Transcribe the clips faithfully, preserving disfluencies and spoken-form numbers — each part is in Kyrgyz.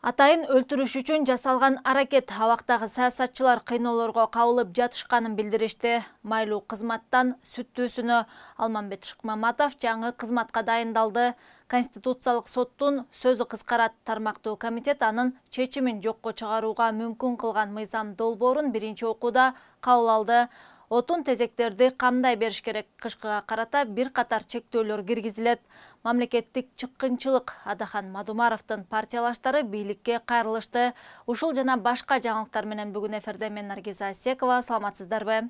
Атайын өлтүрүш үчүн жасалган аракет абактагы саясатчылар кыйноолорго кабылып жатышканын билдиришти. Майлуу кызматтан сүттүүсүнө Алмамбет Шыкмаматов жаңы кызматка дайындалды. Конституциялык соттун сөзү кыскарат тармактуу комитет анын чечимин жокко чыгарууга мүмкүн кылган мыйзам долбоорун биринчи окууда кабыл алды. Отун тезектерди кандай бериш керек? Кышкыга карата бир катар чектөөлөр киргизилет. Мамлекеттик чыккынчылык Адахан Мадумаровдун партиялаштары бийликке кайрылышты. Ушул жана башка жаңылыктар менен бүгүн эфирде мен Наргиза Асекова. Саламатсыздарбы?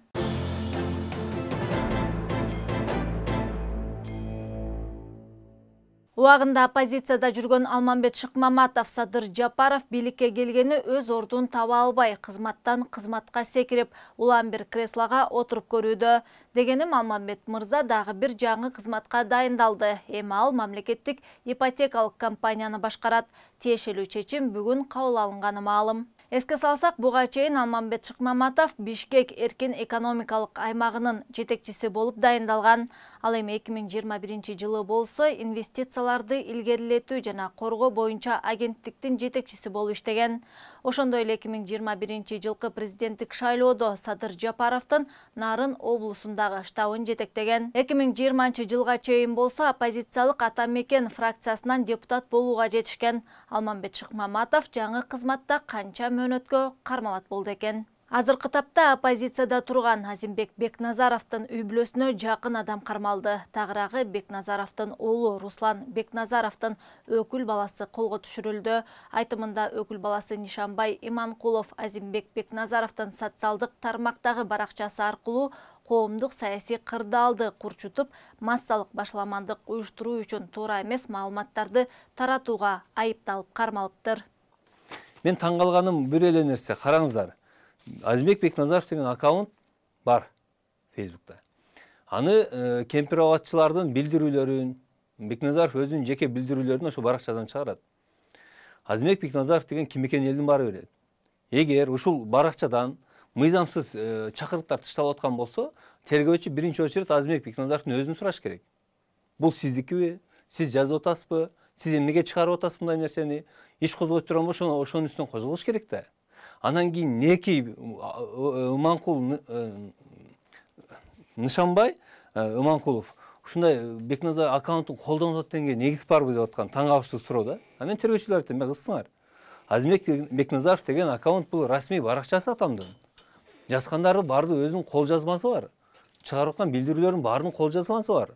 Убагында оппозицияда жүргөн Алмамбет Шыкмаматов Садыр Жапаров бийликке келгени өз ордун таба албай, кызматтан кызматка секирип, улам бир креслога отуруп көрүүдө. Дегеним Алмамбет мырза дагы бир жаңы кызматка дайындалды. Эми ал мамлекеттик ипотекалык компанияны башкарат. Тиешелүү чечим бүгүн кабыл алынганы маалым. Эске салсак, буга чейин Алмамбет Шыкмаматов Бишкек эркин экономикалык аймагынын жетекчиси болуп дайындалган. Ал эми эки миң жыйырма биринчи жылы болсо инвестицияларды илгерилетүү жана коргоо боюнча агенттиктин жетекчиси болуп иштеген. Ошондой эле эки миң жыйырма биринчи жылкы президенттик шайлоодо Садыр Жапаровдун Нарын облусундагы штабын жетектеген. эки миң жыйырманчы жылга чейин болсо оппозициялык Ата Мекен фракциясынан депутат болууга жетишкен. Алмамбет Шыкмаматов жаңы кызматта канча мөөнөткө кармалат болду экен. Азыркы тапта оппозицияда турган Азимбек Бекназаровдун үй бүлөсүнө жакын адам кармалды. Тагыраагы Бекназаровдун уулу Руслан Бекназаровдун өкүл баласы колго түшүрүлдү. Айтымында өкүл баласы Нишанбай Иманкулов Азимбек Бекназаровдун социалдык тармактагы баракчасы аркылуу коомдук саясий кырдаалды курчутуп, массалык башаламандык уюштуруу үчүн туура эмес маалыматтарды таратууга айыпталып кармалыптыр. Мен таң калганым бир эле нерсе, караңыздар. Азимбек Бекназаров деген аккаунт бар Фейсбукта. Аны э, кемпир абадчылардын билдирүүлөрүн, Бекназаров өзүнүн жеке билдирүүлөрүн ошо баракчадан чыгарат. Азимбек Бекназаров деген ким экенин элдин баары билет. Эгер ушул баракчадан мыйзамсыз э, чакырыктар тышталып аткан болсо, тергөөчү биринчи очередь Азимбек Бекназаровдун өзүн сураш керек. Бул сиздикиби? Сиз жазып атасызбы? Сиз эмнеге чыгарып атасыз мындай нерсени? Иш козгойт турган болсо, ошонун үстүнөн козголуш керек да. Анан кийин неки Иманкул Нишанбай Иманкулов ушундай Бекназар аккаунтун колдонуп атат дегенге негиз барбы деп аткан таң калыштуу суроо да. Мен тергөөчүлөр айтам, кызсыңар. Азимбек Бекназаров деген аккаунт бул расмий баракчасы атамдын. Жазгандары баардыгы өзүнүн кол жазмасы бар. Чыгарып аткан билдирүүлөрдүн баарынын кол жазмасы бар.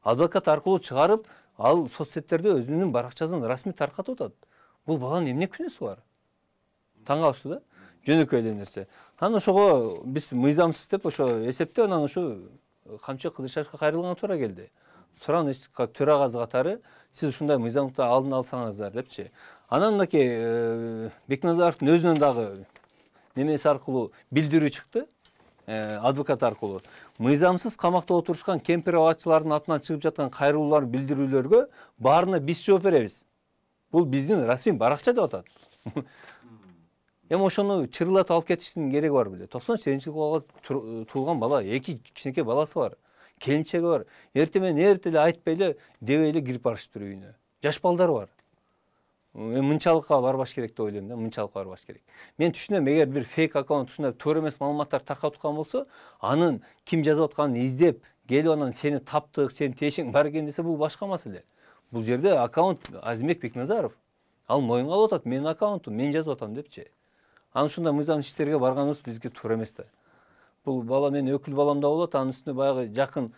Адвокат аркылуу чыгарып, ал соцсеттерде өзүнүн баракчасын расмий таркатып атат. Бул баланын эмне күнөөсү бар? Таң калыштуу да, жөнөкөй эле нерсе. Анан ошого биз мыйзамсыз деп ошо эсептеп, анан ошо Камчы Кыдыршевге кайрылганга туура келди. Суран төрагасы катары сиз ушундай мыйзамды алдын алсаңыздар депчи. Анан мынакей Бекназаровдун өзүнөн дагы немеси аркылуу билдирүү чыкты, адвокат аркылуу. Мыйзамсыз камакта отурушкан кемпир абадчылардын атынан чыгып жаткан кайрылуулар, билдирүүлөргө баарына биз жооп беребиз. Бул биздин расмий баракча деп атат. Эми ошону чырылатып алып кетиштин кереги бар беле. токсон сегизинчи жылы туулган бала, эки кичинекей баласы бар, келинчеги бар. Эртең менен эрте эле айтпай эле, дебей эле кирип барышыптыр үйүнө. Жаш балдары бар. Эми мынчалыкка барбаш керек деп ойлойм да, мынчалыкка барбаш керек. Мен түшүнөм, эгер бир фейк аккаунт ушундай туура эмес маалыматтар таркатып аткан болсо, анын ким жазып атканын издеп, келип анан сени таптык, сенин тиешең бар экен десе, бул башка маселе. Бул жерде аккаунт Азимбек Бекназаров. Ал моюнга алып атат, менин аккаунтум, мен жазып атам депчи. Анан ушундай мыйзам иштерге барганыбыз бизге туура эмес да. Бул бала менин өкүл балам да болот, анын үстүнө баягы жакын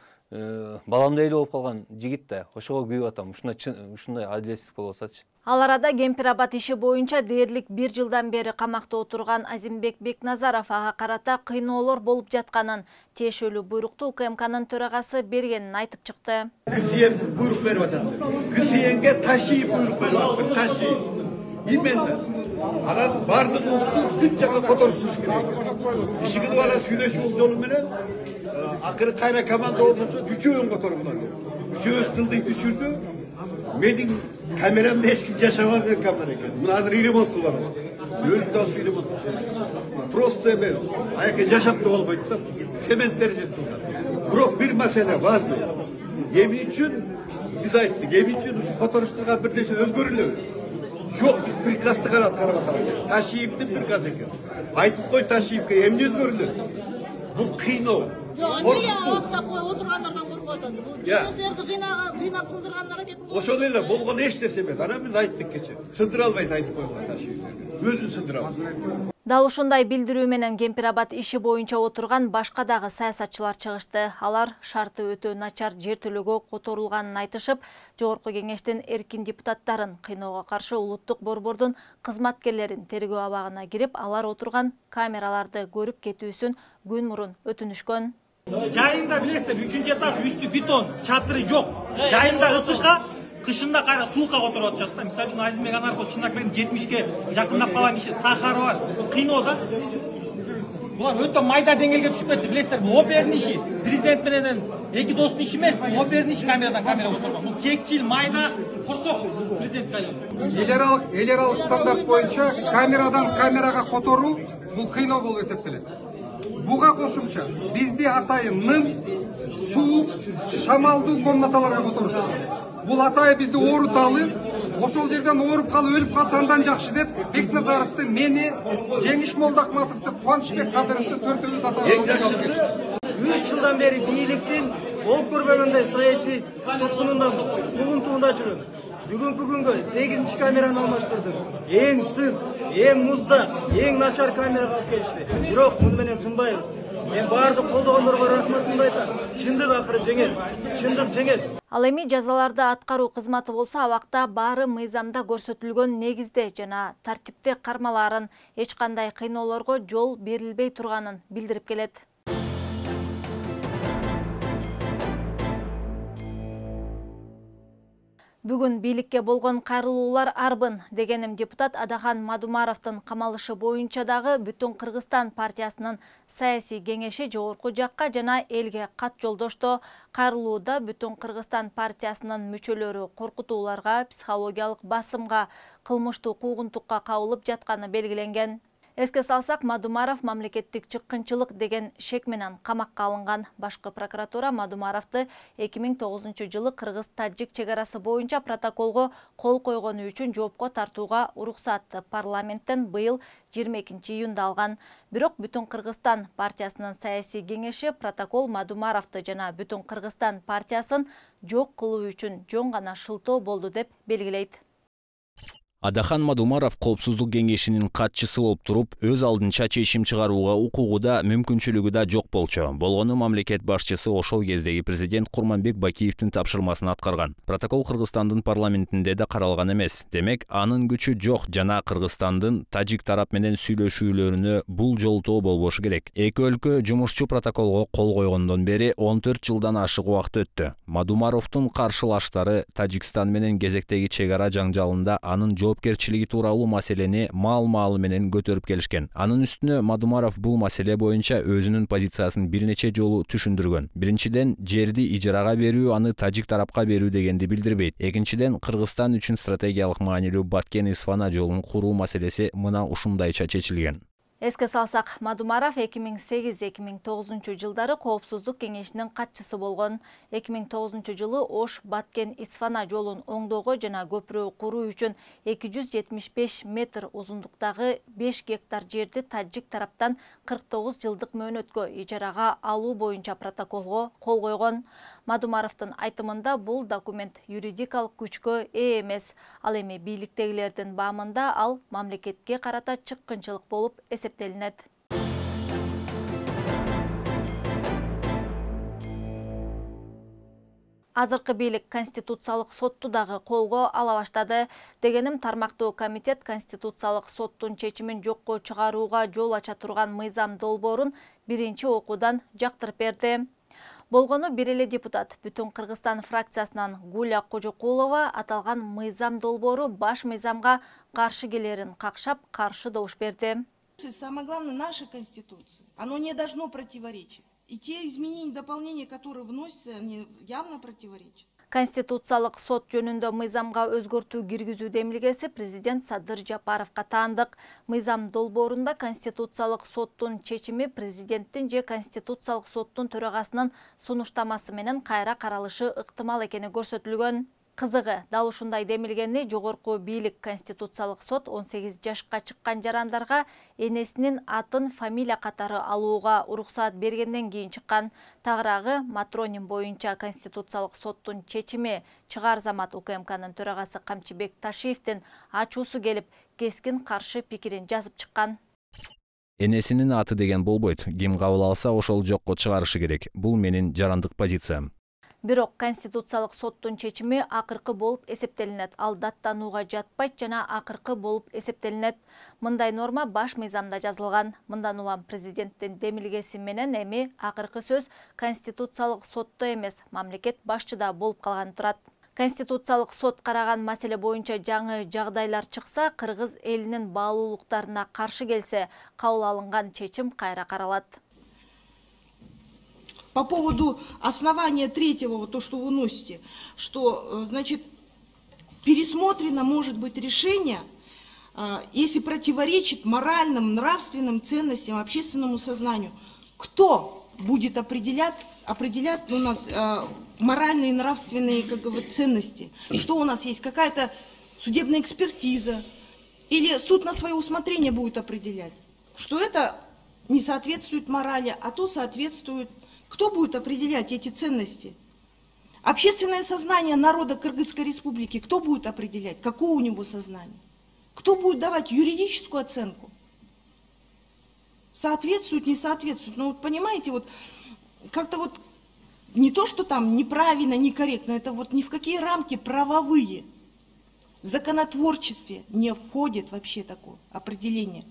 баламдай эле болуп калган жигит да. Ошого күйүп атам. Ушундай ушундай адилетсиз болуп атсачы. Ал арада кемпир абад иши боюнча дээрлик бир жылдан бери камакта отурган Азимбек Бекназаров ага карата кыйноолор болуп жатканын, тиешелүү буйрукту УКМКнын төрагасы бергенин айтып чыкты. КСЕ буйрук берип атат. КСЕге таший буйрук берип атат. Таший. Именно. Анан бардыгыбызды бүт жака которуштуруш керек. Ишигиди бала сүйлөшүү жолу менен акыры кайра команда болсо үчөөүн которгула. Үчөөбүз тылды түшүрдү. Менин камерамда эч ким жашабаган камера экен. Муну азыр ремонт кылып атат. Өлүп да ремонт кылып. Просто эме аяка жашап да болбойт да. Цементтер жетти. Бирок бир маселе важный. Эмне үчүн биз айттык, эмне үчүн ушу которуштурган бир нерсе өзгөрүлөбү? Жоқ, біз приказды ғана атқарып жатырмыз. Ташиевтің приказы екен. Айтып қой Ташиевке, эмне өзгөрдү? Бұл қиынау. Ошол эле болгон эч нерсе эмес. Ана биз айттык кече. Сындыра албайт айтып койгон Ташиевке. Өзүн сындыра албайт. Дал ушундай билдирүү менен Кемпирабад иши боюнча отурган башка дагы саясатчылар чыгышты. Алар шарты өтө начар жер төлөөгө которулганын айтышып, Жогорку Кеңештин эркин депутаттарын кыйноого каршы улуттук борбордун кызматкерлерин тергөө абагына кирип, алар отурган камераларды көрүп кетүүсүн күн мурун өтүнүшкөн. Жайында билесиздер, үчүнчү этаж үстү бетон, чатыры жок. Жайында ысыкка, кышында кайра суукка которуп атышат да. Мисалы үчүн Азимбек Анаркул чындап менен жетимишке жакындап калган киши сахары бар. Кыйноо да. Булар өтө майда деңгээлге түшүп кетти. Билесиздер, бул опердин иши, президент менен эки достун иши эмес, опердин иши камерадан камерага отурган. Бул кекчил, майда, коркок президент кайлы. Эл аралык, эл аралык стандарт боюнча камерадан камерага которуу бул кыйноо болуп эсептелет. Буга кошумча бизди атайын нын, суу, шамалдуу комнаталарга которушат. Бул атайын бизди ооруталы, ошол жерден ооруп калып өлүп калса андан жакшы деп Бекназаровду, мени, Жеңиш Молдокматовду, Кубанычбек Кадыровду төртөөбүз аталып үч жылдан бери бийликтин болуп көрбөгөндөй саясий туткунунда, кулунтуунда жүрөм. Бүгүнкү күнгө сегизинчи камераны алмаштырдым. Эң сыз, эң музда, эң начар камерага алып келишти. Бирок муну менен сынбайбыз. Мен баардык колдогондорго рахматымды айтам. Чындык акыры жеңет. Чындык жеңет. Ал эми жазаларды аткаруу кызматы болсо абакта баары мыйзамда көрсөтүлгөн негизде жана тартипте кармалаарын, эч кандай кыйноолорго жол берилбей турганын билдирип келет. Бүгүн бийликке болгон кайрылуулар арбын дегеним депутат Адахан Мадумаровдун камалышы боюнча дагы Бүтүн Кыргызстан партиясынын саясий кеңеши жогорку жакка жана элге кат жолдошту. Кайрылууда Бүтүн Кыргызстан партиясынын мүчөлөрү коркутууларга, психологиялык басымга, кылмыштуу куугунтукка кабылып жатканы белгиленген. Эске салсак, Мадумаров мамлекеттик чыккынчылык деген шек менен камакка алынган. Башкы прокуратура Мадумаровду эки миң тогузунчу жылы Кыргыз-Тажик чегарасы боюнча протоколго кол койгону үчүн жоопко тартууга уруксатты парламенттен быйыл жыйырма экинчи июнда алган. Бирок Бүтүн Кыргызстан партиясынын саясий кеңеши протокол Мадумаровду жана Бүтүн Кыргызстан партиясын жок кылуу үчүн жөн гана шылтоо болду деп белгилейт. Адахан Мадумаров коопсуздук кеңешинин катчысы болуп туруп, өз алдынча чечим чыгарууга укугу да, мүмкүнчүлүгү да жок болчу. Болгону мамлекет башчысы ошол кездеги президент Курманбек Бакиевдин тапшырмасын аткарган. Протокол Кыргызстандын парламентинде да каралган эмес. Демек, анын күчү жок жана Кыргызстандын Тажик тарап менен сүйлөшүүлөрүнө бул жолтоо болбошу керек. Эки өлкө жумушчу протоколго кол койгондон бери он төрт жылдан ашык убакыт өттү. Мадумаровдун каршылаштары Тажикстан менен кезектеги чегара жаңжалында анын жоопкерчилиги тууралуу маселени маал-маалы менен көтөрүп келишкен. Анын үстүнө Мадумаров бул маселе боюнча өзүнүн позициясын бир нече жолу түшүндүргөн. Биринчиден, жерди ижарага берүү, аны Тажик тарапка берүү дегенди билдирбейт. Экинчиден, Кыргызстан үчүн стратегиялык маанилүү Баткен-Исфана жолун куруу маселеси мына ушундайча чечилген. Эске салсак, Мадумаров эки миң сегиз эки миң тогузунчу жылдары Коопсуздук кеңешинин катчысы болгон. эки миң тогузунчу жылы Ош Баткен-Исфана жолун оңдоого жана көпүрө куруу үчүн эки жүз жетимиш беш метр узундуктагы беш гектар жерди Тажик тараптан кырк тогуз жылдык мөөнөткө ижарага алуу боюнча протоколго кол койгон. Мадумаровдун айтымында бул документ юридикалык күчкө ээ эмес. Ал эми бийликтегилердин баамында ал мамлекетке карата чыккынчылык болуп эсептелинет. Азыркы бийлик Конституциялык сотту дагы колго ала баштады. Дегеним, тармактуу комитет Конституциялык соттун чечимин жокко чыгарууга жол ача турган мыйзам долбоорун биринчи окуудан жактырып берди. Болгону бир эле депутат Бүтүн Кыргызстан фракциясынан Гуля Кожокулова аталган мыйзам долбоору баш мыйзамга каршы келерин какшап, каршы добуш берди. Самое главное, наша Конституция, оно не должно противоречить. И те изменения и дополнения, которые вносятся, они явно противоречат. Конституциялык сот жөнүндө мыйзамга өзгөртүү киргизүү демилгеси президент Садыр Жапаровго таандык. Мыйзам долбоорунда Конституциялык соттун чечими президенттин же Конституциялык соттун төрагасынын сунуштамасы менен кайра каралышы ыктымал экени көрсөтүлгөн. Кызыгы, дал ушундай демилгенди жогорку бийлик Конституциялык сот он сегиз жашка чыккан жарандарга энесинин атын фамилия катары алууга уруксаат бергенден кийин чыккан. Тагыраагы Матронин боюнча Конституциялык соттун чечими Чыгаар Замат УКМКнын төрагасы Камчыбек Ташиевдин ачуусу келип, кескин каршы пикирин жазып чыккан. Энесинин аты деген болбойт. Ким кабыл алса, ошол жокко чыгарышы керек. Бул менин жарандык позициям. Бирок Конституциялык соттун чечими акыркы болуп эсептелинет. Ал даттанууга жатпайт жана акыркы болуп эсептелинет. Мындай норма баш мыйзамда жазылган. Мындан улам президенттин демилгеси менен эми акыркы сөз Конституциялык сотто эмес, мамлекет башчыда болуп калганы турат. Конституциялык сот караган маселе боюнча жаңы жагдайлар чыкса, кыргыз элинин баалуулуктарына каршы келсе, кабыл алынган чечим кайра каралат. По поводу основания третьего, вот то, что вы носите, что, значит, пересмотрено может быть решение, если противоречит моральным, нравственным ценностям, общественному сознанию. Кто будет определять, определять у нас моральные и нравственные, как говорят, ценности? Что у нас есть? Какая-то судебная экспертиза? Или суд на свое усмотрение будет определять? Что это не соответствует морали, а то соответствует. Кто будет определять эти ценности? Общественное сознание народа Кыргызской республики кто будет определять? Какое у него сознание? Кто будет давать юридическую оценку? Соответствует, не соответствует. Ну вот понимаете, вот как-то вот не то, что там неправильно, некорректно, это вот ни в какие рамки правовые. В законотворчестве не входит вообще такое определение.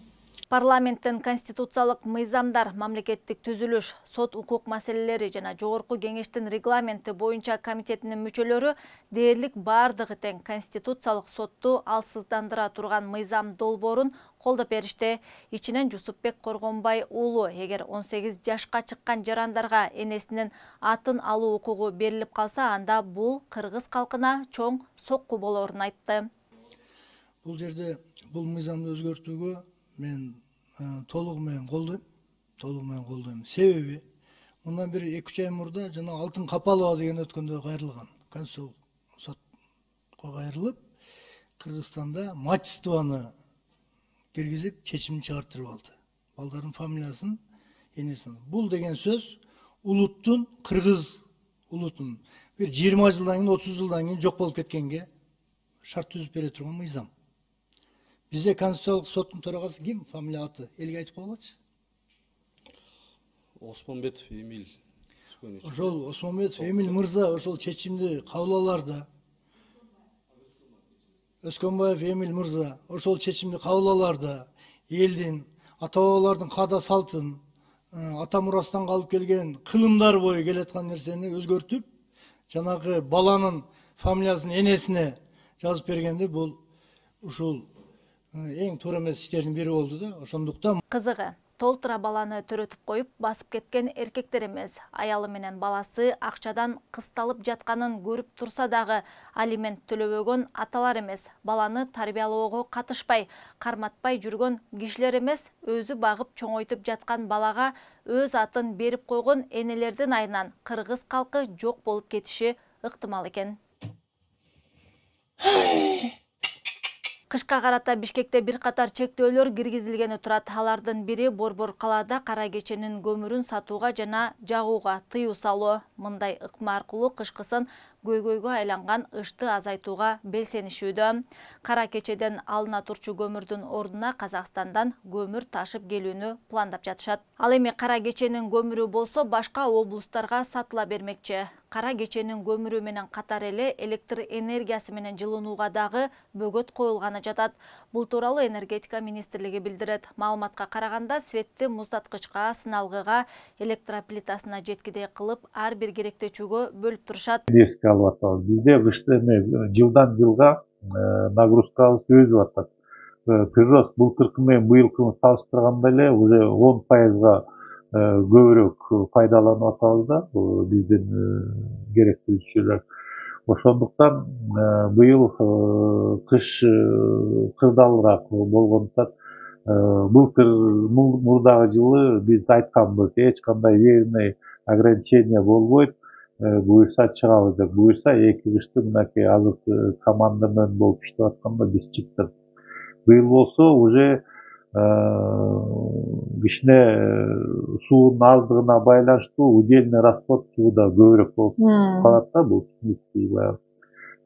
Парламенттин конституциялык мыйзамдар, мамлекеттик түзүлүш, сот укук маселелери жана жогорку кеңештин регламенти боюнча комитетинин мүчөлөрү дээрлик бардыгы тең конституциялык сотту алсыздандыра турган мыйзам долбоорун колдоп беришти. Ичинен Жусупбек Коргонбай уулу, эгер он сегиз жашка чыккан жарандарга энесинин атын алуу укугу берилип калса, анда бул кыргыз калкына чоң сокку болорун айтты. Бул жерде бул мыйзамды өзгөртүүгө мен толугу менен колдойм, толугу менен колдойм. Себеби мындан бир эки үч ай мурда жана Алтын Капалова деген өткөндө кайрылган. Конституциялык сотко кайрылып, Кыргызстанда мачествоны киргизип чечим чыгартырып алды. Балдардын фамилиясын, энесин. Бул деген сөз улуттун, кыргыз улутун бир жыйырма жылдан кийин, отуз жылдан кийин жок болуп кеткенге шарт түзүп бере турган мыйзам. Бизде Конституциялык соттун төрагасы ким? Фамилия аты. Элге айтып койгулачы. Осмонбетов Эмиль. Ошол Осмонбетов Эмиль мырза ошол чечимди кабыл аларда. Өскөнбаев Эмиль мырза ошол чечимди кабыл аларда элдин, ата-бабалардын каада салтын, ата мурастан калып келген кылымдар бою келаткан нерсени өзгөртүп, жанагы баланын фамилиясын энесине жазып бергенде бул ушул эң туура эмес иштердин бири болду да. Ошондуктан кызыгы, толтура баланы төрөтүп коюп басып кеткен эркектер эмес, аялы менен баласы акчадан кысталып жатканын көрүп турса дагы алимент төлөбөгөн аталар эмес, баланы тарбиялоого катышпай, карматпай жүргөн кишилер эмес, өзү багып чоңойтуп жаткан балага өз атын берип койгон энелердин айынан кыргыз калкы жок болуп кетиши ыктымал экен. Кышка карата Бишкекте бир катар чектөөлөр киргизилгени турат. Алардын бири Борбор калаада кара кеченин көмүрүн сатууга жана жагууга тыюу салуу. Мындай ыкма аркылуу кышкысын көйгөйгө айланган ышты азайтууга белсенишүүдө. Кара кечеден алына турчу көмүрдүн ордуна Казакстандан көмүр ташып келүүнү пландап жатышат. Ал эми кара кеченин көмүрү болсо башка облустарга сатыла бермекчи. Кара кеченин көмүрү менен катар эле электр энергиясы менен жылынууга дагы бөгөт коюлганы жатат. Бул тууралуу энергетика министрлиги билдирет. Маалыматка караганда светти муздаткычка, сыналгыга, электроплитасына жеткидей кылып ар бир керектечүүгө бөлүп турушат. Бизде кышты жылдан жылга нагрузкабыз өсүп атат. Прирост былтыркы менен быйылкыны салыштырганда эле уже он пайызга көбүрөөк пайдаланып атабыз да биздин керектүүчүлөр. Ошондуктан быйыл кыш кырдаалыраак болгондуктан былтыр мурдагы жылы биз айтканбыз, эч кандай верный ограничение болбойт. буюрса чыгабыз деп. Буюрса эки кышты мынакей азыр команда менен болуп иштеп атканда биз чыктык. Быйыл болсо уже кичине суунун аздыгына байланыштуу удельный расход сууда көбүрөөк болуп калат да, бул технический баягы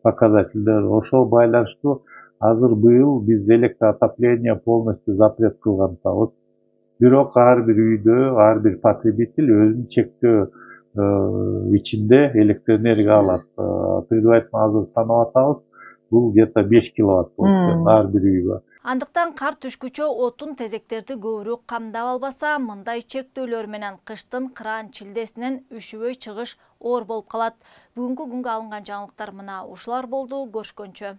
показательдер. Ошол байланыштуу азыр быйыл биз электроотопление полностью запрет кылган атабыз. Бирок ар бир үйдө, ар бир потребитель өзүнүн чектөө ичинде электроэнергия алат. Предварительно азыр санап атабыз. Бул где-то беш киловатт болуп ар бир үйгө. Андыктан кар түшкүчө отун тезектерди көбүрөөк камдап албаса, мындай чектөөлөр менен кыштын кыран чилдесинен үшүбөй чыгыш оор болуп калат. Бүгүнкү күнгө алынган жаңылыктар мына ушулар болду. Көрүшкөнчө.